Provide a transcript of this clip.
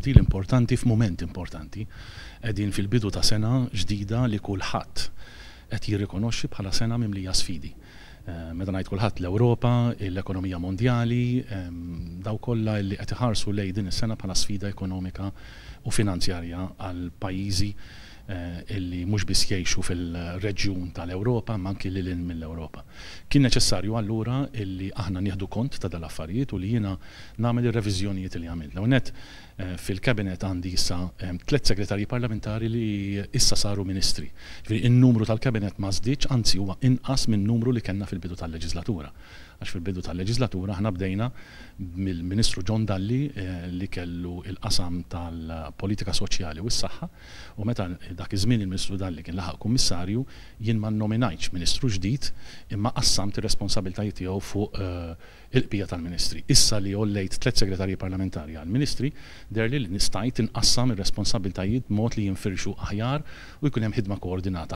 tibdil importanti f'mument importanti. Qegħdin fil-bidu ta' sena ġdida li kulħadd qed jirrikonoxxi bħala sena mimlija sfidi. Meta ngħid kulħadd, l-Ewropa, l-ekonomija mondjali, dawk kollha li qed iħarsu lejn din is-sena bħala sfida ekonomika u finanzjarja għal pajjiżi illi mhux biss jgħixu fil-reġjun tal-Ewropa, ma anki lil hinn mill-Ewropa. Kien neċessarju allura illi aħna nieħdu kont ta' dal-affarijiet u li jiena nagħmel ir-reviżjonijiet li għamilt. L-ewwel nett, fil-cabinet għandi issa tliet segretarji parlamentari li issa saru ministri. Ġifieri in-numru tal-cabinet ma żdiedx, anzi huwa inqas minn numru li kellna fil-bidu tal-leġislatura. Għax fil-bidu tal-leġislatura aħna bdejna mill-Ministru John Dalli, li kellu il-qasam tal-politika soċjali u s-saħħa, u meta dak iż-żmien il-Ministru Dalli kien laħaq kummissarju, jien ma nominajtx ministru ġdid, imma qassamt ir-responsabbiltajiet tiegħu fuq il-bqija tal-ministri. Issa li għollejt tliet segretarji parlamentari għal-ministri, deherli li stajt inqassam ir-responsabbiltajiet b'mod li jinfirxu aħjar u jkun hemm ħidma koordinata.